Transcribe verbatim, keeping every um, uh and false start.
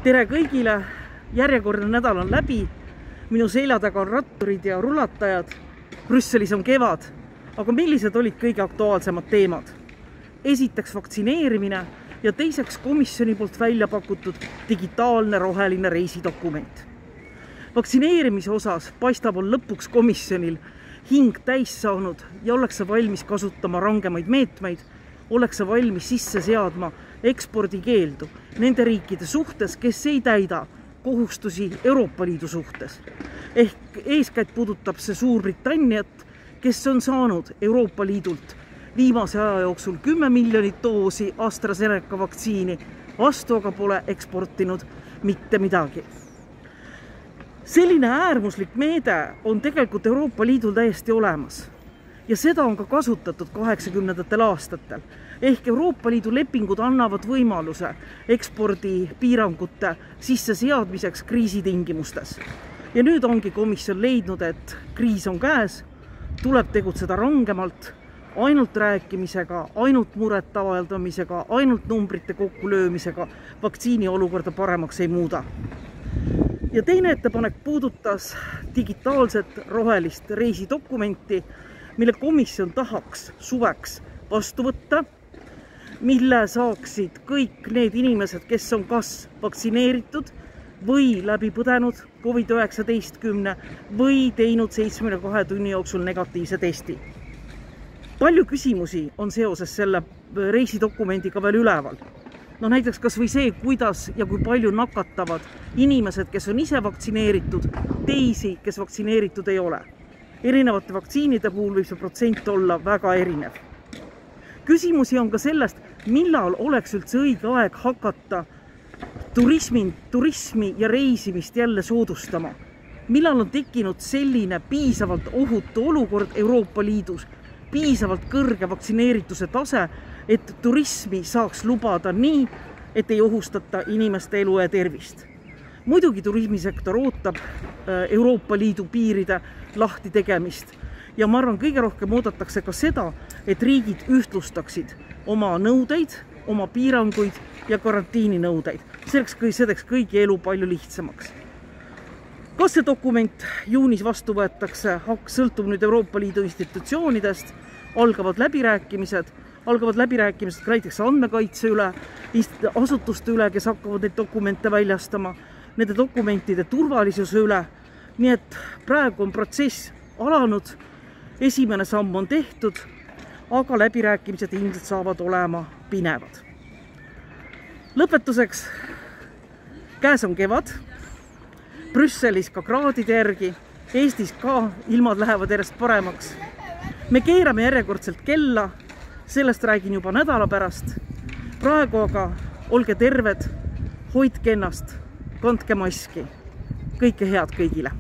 Tere kõigile, järjekordne nädal on läbi, minu selja taga on ratturid ja rulatajad, Brüsselis on kevad, aga millised olid kõige aktuaalsemad teemad? Esiteks vaktsineerimine ja teiseks komisjoni poolt välja pakutud digitaalne roheline reisidokument. Vaktsineerimise osas paistab on lõpuks komisjonil hing täis saanud ja ollakse valmis kasutama rangemaid meetmeid, ollakse valmis sisse seadma ekspordikeeldu nende riikide suhtes, kes ei täida kohustusi Euroopa Liidu suhtes. Ehk eeskätt puudutab see Suurbritanniat, kes on saanud Euroopa Liidult viimase aja jooksul kümme miljonit doosi AstraZeneca vaktsiini, vastu aga pole eksportinud mitte midagi. Selline äärmuslik meede on tegelikult Euroopa Liidul täiesti olemas. Ja seda on ka kasutatud kaheksakümnendatel aastatel. Ehk Euroopa Liidu lepingud annavad võimaluse ekspordipiirangute sisse seadmiseks kriisitingimustes. Ja nüüd ongi komisjon leidnud, et kriis on käes, tuleb tegutseda rangemalt, ainult rääkimisega, ainult muret avaldamisega, ainult numbrite kokkulöömisega vaktsiini olukorda paremaks ei muuda. Ja teine ettepanek puudutas digitaalset rohelist reisidokumenti, mille komisjon tahaks suveks vastu võtta, mille saaksid kõik need inimesed, kes on kas vaktsineeritud või läbi põdenud COVID üheksateist või teinud seitsmekümne kahe tunni jooksul negatiivse testi. Palju küsimusi on seoses selle reisidokumendiga veel üleval. No näiteks kas või see, kuidas ja kui palju nakatavad inimesed, kes on ise vaktsineeritud, teisi, kes vaktsineeritud ei ole. Erinevate vaktsiinide puhul võib see protsent olla väga erinev. Küsimusi on ka sellest, millal oleks üldse õige aeg hakata turismi, turismi ja reisimist jälle soodustama. Millal on tekkinud selline piisavalt ohutu olukord Euroopa Liidus, piisavalt kõrge vaktsineerituse tase, et turismi saaks lubada nii, et ei ohustata inimeste elu ja tervist. Muidugi turismisektor ootab Euroopa Liidu piiride lahti tegemist ja ma arvan, kõige rohkem oodatakse ka seda, et riigid ühtlustaksid oma nõudeid, oma piiranguid ja karantiininõudeid. Selleks kõigi elu palju lihtsamaks. Kas see dokument juunis vastu võetakse, sõltub nüüd Euroopa Liidu institutsioonidest, algavad läbirääkimised, algavad läbirääkimised ka näiteks andmekaitse üle, asutuste üle, kes hakkavad neid dokumente väljastama, nende dokumentide turvalisuse üle. Nii et praegu on protsess alanud, esimene samm on tehtud, aga läbirääkimised ilmselt saavad olema pinevad. Lõpetuseks, käes on kevad, Brüsselis ka kraadide järgi, Eestis ka ilmad lähevad järjest paremaks. Me keerame järjekordselt kella, sellest räägin juba nädala pärast. Praegu aga olge terved, hoidke ennast, kandke maski. Kõike head kõigile!